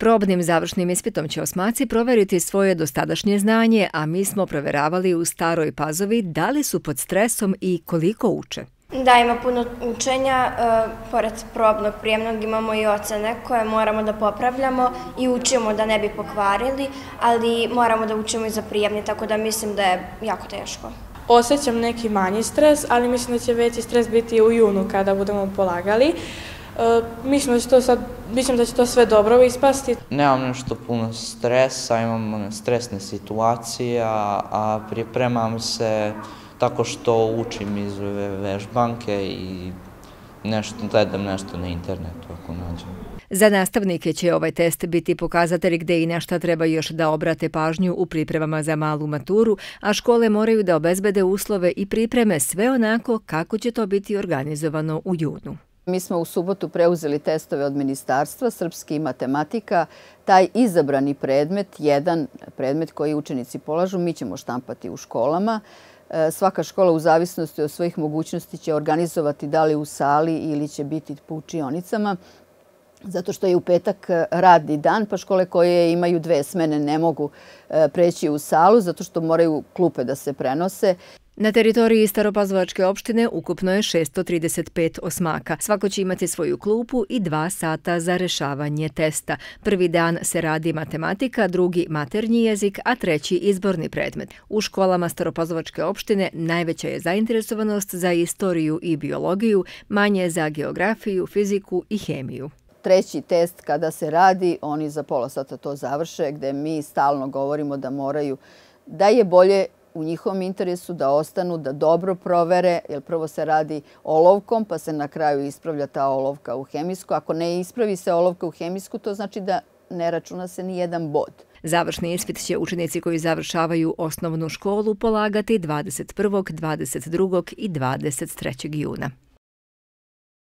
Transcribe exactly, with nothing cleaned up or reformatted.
Probnim završnim ispitom će osmaci proveriti svoje dosadašnje znanje, a mi smo proveravali u Staroj Pazovi da li su pod stresom i koliko uče. Da, ima puno učenja, pored probnog prijemnog imamo i ocene koje moramo da popravljamo i učimo da ne bi pokvarili, ali moramo da učimo i za prijemni, tako da mislim da je jako teško. Osjećam neki manji stres, ali mislim da će veći stres biti u junu kada budemo polagali. Mislim da će to sad, mislim da će to sve dobro ispasti. Nemam nešto puno stresa, imam stresne situacije, a pripremam se tako što učim iz vežbanke i nešto, gledam nešto na internetu ako nađem. Za nastavnike će ovaj test biti pokazatelj gde i na šta treba još da obrate pažnju u pripremama za malu maturu, a škole moraju da obezbede uslove i pripreme sve onako kako će to biti organizovano u junu. Mi smo u subotu preuzeli testove od ministarstva, srpski i matematika. Taj izabrani predmet, jedan predmet koji učenici polažu, mi ćemo štampati u školama. Svaka škola u zavisnosti od svojih mogućnosti će organizovati da li u sali ili će biti po učionicama. Zato što je u petak radni dan, pa škole koje imaju dve smene ne mogu preći u salu, zato što moraju klupe da se prenose. Na teritoriji Staropazovačke opštine ukupno je šessto trideset pet osmaka. Svako će imati svoju klupu i dva sata za rešavanje testa. Prvi dan se radi matematika, drugi maternji jezik, a treći izborni predmet. U školama Staropazovačke opštine najveća je zainteresovanost za istoriju i biologiju, manje za geografiju, fiziku i hemiju. Treći test kada se radi, oni za pola sata to završe, gde mi stalno govorimo da moraju, da je bolje u njihovom interesu da ostanu, da dobro provere, jer prvo se radi olovkom, pa se na kraju ispravlja ta olovka u hemijsku. Ako ne ispravi se olovka u hemijsku, to znači da ne računa se ni jedan bod. Završni ispit će učenici koji završavaju osnovnu školu polagati dvadeset prvog, dvadeset drugog i dvadeset trećeg juna.